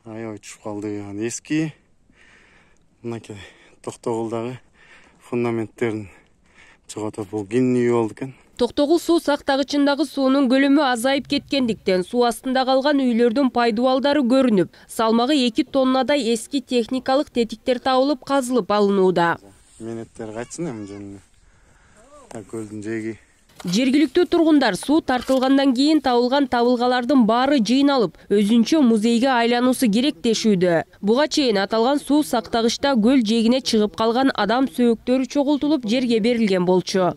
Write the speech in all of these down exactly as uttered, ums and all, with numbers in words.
аябай түшүп калды. Анан эски мынакей Токтогулдагы фундаменттерин чоготот. Бул кинин үй болду экен. Токтогул суу сактагычындагы суунун көлөмү азайып кеткендиктен суу астында калган үйлөрдүн пайдубалдары көрүнүп, салмагы эки тоннадай эски техникалык тетиктер табылып, казылып алынууда. Менеттер кайтсын эми жөнүнө. Көлдүн жээги. Жергиликтүү тургундар суу тартылгандан кийин табылган табылгалардын баары жыйналып, өзүнчө музейге айлануусу керек дешүүдө. Буга чейин аталган суу сактагычта көл жээгине чыгып калган адам сөөктөрү чогултулуп жерге берилген болчу.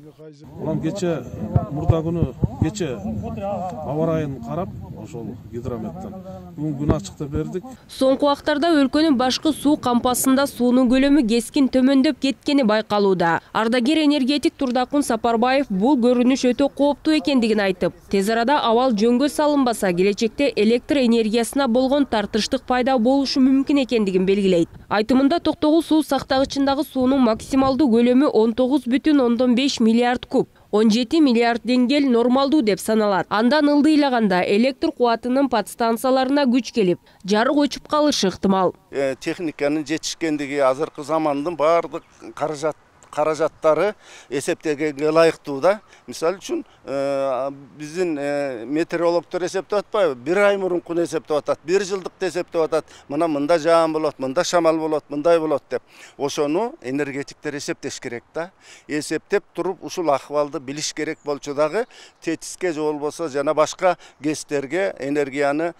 Улам кече мурда күнү кече аба ырайын карап, ошол гидрометтен бүгүн күн ачыкта бердик. Соңку убактарда өлкөнүн башкы суу кампасында суунун көлөмү кескин төмөндөп кеткени байкалууда. Ардагер энергетик Турдакун Сапарбаев бул көрүнүш өтө кооптуу экендигин айтып, тез арада абал жөнгө салынбаса, келечекте электр энергиясына болгон тартыштык пайда болушу мүмкүн экендигин белгилейт. Айтымында Токтогул суу сактагычындагы суунун максималдуу көлөмү он тогуз бүтүн ондон беш миллиард куб. он жети миллиард деңгел нормалдуу деп саналат. Андан ылдыйлаганда электр кубатынын подстанцияларына күч келип, жарык өчүп калышы ыктымал. Техниканын жетишкендиги азыркы замандын баардык каражат каражаттары эсептегенге ылайыктуу да. Мисалы үчүн биздин метеорологдор эсептеп атпайбы? Бир ай мурункуну эсептеп атат, бир жылдыкты эсептеп атат. Мына мында жаан болот, мында шамал болот, мындай болот деп. Ошону энергетиктер эсептеш керек да. Эсептеп туруп ушул акыбалды билиш керек болчу дагы, тетиске же болбосо жана башка гэстерге энергияны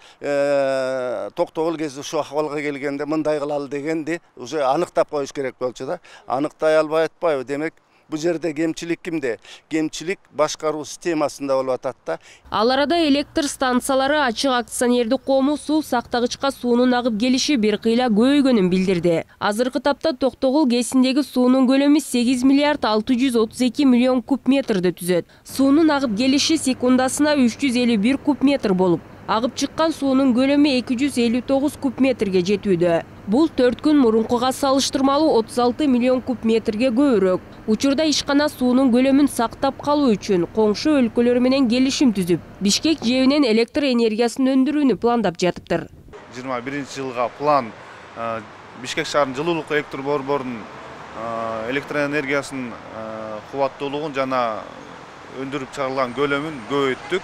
Токтогул гэси ушу акыбалга келгенде мындай кылалы дегенди уже аныктап коюш керек болчу да. Аныктай албай атпайбы? Демек, бу жерде кемчилик кимде? Кемчилик башкаруу системасында болуп атат да. Ал арада электр станциялары ачык акционердик коому суу сактагычка суунун агып келиши бир кыйла көбөйгөнүн билдирди. Азыркы тапта Токтогул КЭСиндеги суунун көлөмү сегиз миллиард алты жүз отуз эки миллион куб метрди түзөт. Суунун агып келиши секундасына үч жүз элүү бир куб метр болуп, агып чыккан суунун көлөмү эки жүз элүү тогуз куб метрге жетүүдө. Бул төрт күн мурункуга салыштырмалуу отуз алты миллион куб метрге көбүрөөк. Учурда ишкана суунун көлөмүн сактап калуу үчүн коңшу өлкөлөр менен келишим түзүп, Бишкек жээгинен электр энергиясын өндүрүүнү пландап жатыптыр. жыйырма биринчи жылга план Бишкек шаарынын жылуулук электр борборунун электр энергиясынын кубаттуулугун жана өндүрүп чыгарылган көлөмүн көбөйттүк.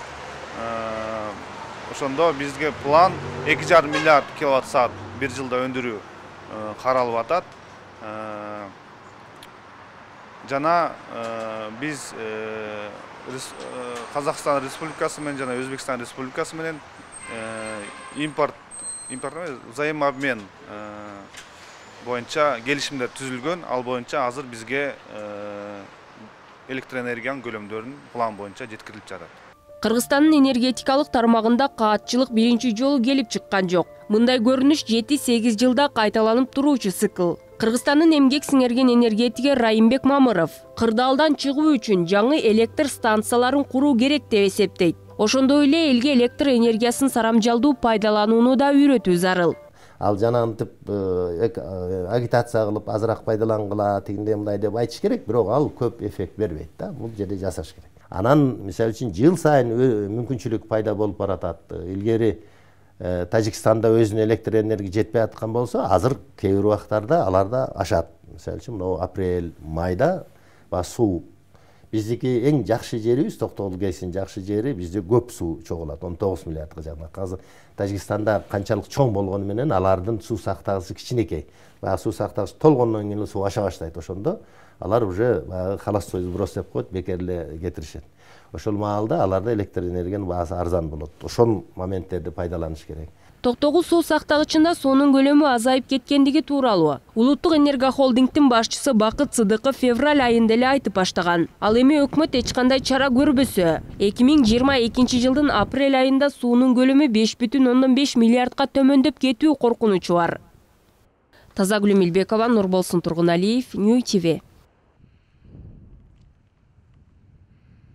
Ошондо бизге план эки жарым миллиард киловатт саат бир жылда өндүрүү каралып атат. Жана биз Казакстан Республикасы менен жана Өзбекстан Республикасы менен импорт импорт взаимообмен боюнча келишимдер түзүлгөн. Ал боюнча азыр бизге электр энергиянын көлөмдөрүн план боюнча жеткирилип жатат. Кыргызстандын энергетикалык тармагында каатчылык биринчи жолу келип чыккан жок. Мындай көрүнүш жети сегиз жылда кайталанып туруучу цикл. Кыргызстандын эмгек сиңерген энергетиги Райымбек Мамыров кырдаалдан чыгуу үчүн жаңы электр станцияларын куруу керек деп эсептейт. Ошондой эле элге электр энергиясын сарамжалдуу пайдаланууну да үйрөтүү зарыл. Ал жанагынтип агитация кылып азыраак пайдалангыла, тигиндей мындай деп айтыш керек, бирок ал көп эффект бербейт да. Бул жерде жасаш керек. Анан мисалы үчүн жыл сайын мүмкүнчүлүк пайда болуп баратат. Илгери Тажикстанда өзүнүн электр энергия жетпей аткан болсо, азыр кээ бир убактарда аларда ашат. Мисалы үчүн могу апрель, майда ба суу. Биздики эң жакшы жерибиз, Токтогул КЭСинин жакшы жери, бизде көп суу чогулат, он тогуз миллиардга жакын. Азыр Тажикстанда канчалык чоң болгону менен алардын суу сактагычы кичинекей. Баягы суу сактагыч толгондон кийин суу аша баштайт. Ошондо алар уже баягы холостой сброс деп коет, бекер эле кетиришет. Ошол маалда аларда электр энергиянын баасы арзан болот. Ошол моменттерди пайдаланыш керек. Токтогул суу сактагычында суунун көлөмү азайып кеткендиги тууралуу Улуттук энергохолдингдин башчысы Бакыт Сыдыков февраль айында эле айтып баштаган. Ал эми өкмөт эч кандай чара көрбөсө, эки миң жыйырма экинчи жылдын апрель айында суунун көлөмү беш бүтүн ондон беш миллиардка төмөндөп кетүү коркунучу бар. Тазагүл Милбекова, Нурболсун Тургуналиев, Нью ТВ.